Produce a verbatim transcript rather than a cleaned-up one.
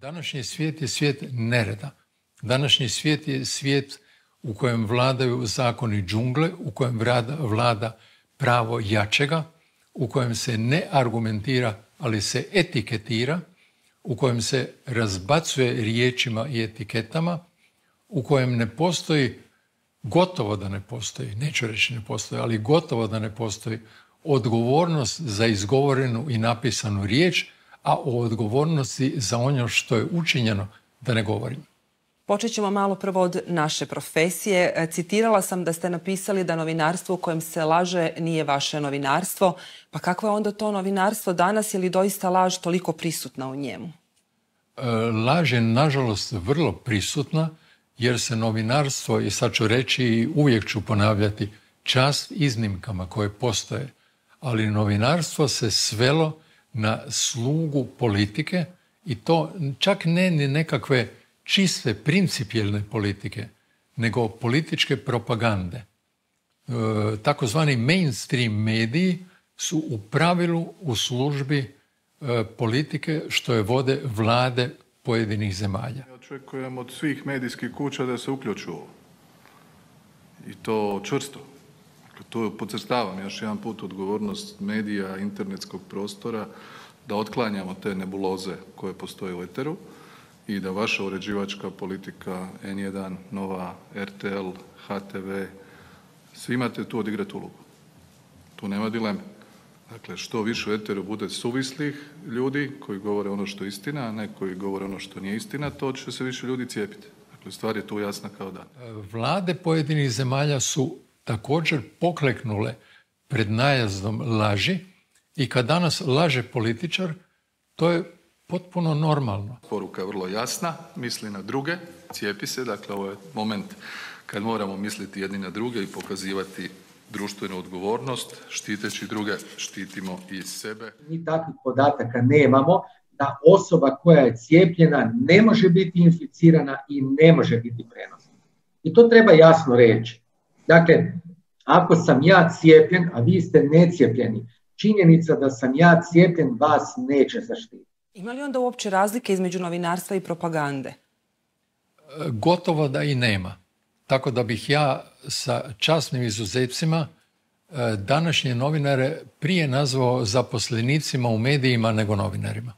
Današnji svijet je svijet nereda. Današnji svijet je svijet u kojem vladaju zakoni džungle, u kojem vlada, vlada pravo jačega, u kojem se ne argumentira, ali se etiketira, u kojem se razbacuje riječima i etiketama, u kojem ne postoji, gotovo da ne postoji, neću reći ne postoji, ali gotovo da ne postoji odgovornost za izgovorenu i napisanu riječ, a o odgovornosti za ono što je učinjeno da ne govorim. Počet ćemo malo prvo od naše profesije. Citirala sam da ste napisali da novinarstvo u kojem se laže nije vaše novinarstvo. Pa kakvo je onda to novinarstvo danas, je li doista laž toliko prisutna u njemu? Laž je, nažalost, vrlo prisutna, jer se novinarstvo, i sad ću reći i uvijek ću ponavljati, čast iznimkama koje postoje, ali novinarstvo se svelo na slugu politike, i to čak ne ni nekakve čiste principijelne politike, nego političke propagande. E, takozvani mainstream mediji su u pravilu u službi e, politike što je vode vlade pojedinih zemalja. Ja očekujem od svih medijskih kuća da se uključu ovo. I to čvrsto. To podcrtavam još jedan put odgovornost medija, internetskog prostora, da otklanjamo te nebuloze koje postoje u eteru i da vaša uređivačka politika, en jedan, Nova, er te el, ha te ve, svi imate tu odigrati ulogu. Tu nema dileme. Dakle, što više u eteru bude suvislih ljudi koji govore ono što je istina, a ne koji govore ono što nije istina, to će se više ljudi cijepiti. Dakle, stvar je tu jasna kao dan. Vlade pojedinih zemalja su također pokleknule pred najazdom laži i kad danas laže političar, to je potpuno normalno. Poruka je vrlo jasna, misli na druge, cijepi se, dakle ovo je moment kad moramo misliti jedni na druge i pokazivati društvenu odgovornost, štiteći druge, štitimo i sebe. Mi takvih podataka nemamo, da osoba koja je cijepljena ne može biti inficirana i ne može biti prenosna. I to treba jasno reći. Dakle, ako sam ja cijepljen, a vi ste necijepljeni, činjenica da sam ja cijepljen vas neće zaštititi. Ima li onda uopće razlike između novinarstva i propagande? Gotovo da i nema. Tako da bih ja sa časnim izuzecima današnje novinare prije nazvao zaposlenicima u medijima nego novinarima.